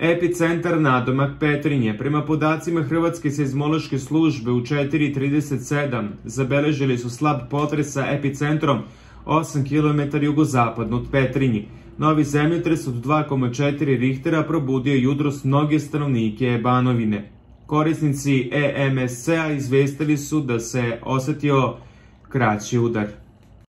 Epicentar nadomak Petrinje. Prema podacima Hrvatske seizmološke službe u 4:37 zabeležili su slab potres sa epicentrom 8 km jugozapadno od Petrinje. Novi zemljotres od 2,4 Richtera probudio jutros mnoge stanovnike Banovine. Korisnici EMSC-a izvestili su da se osetio kraći udar.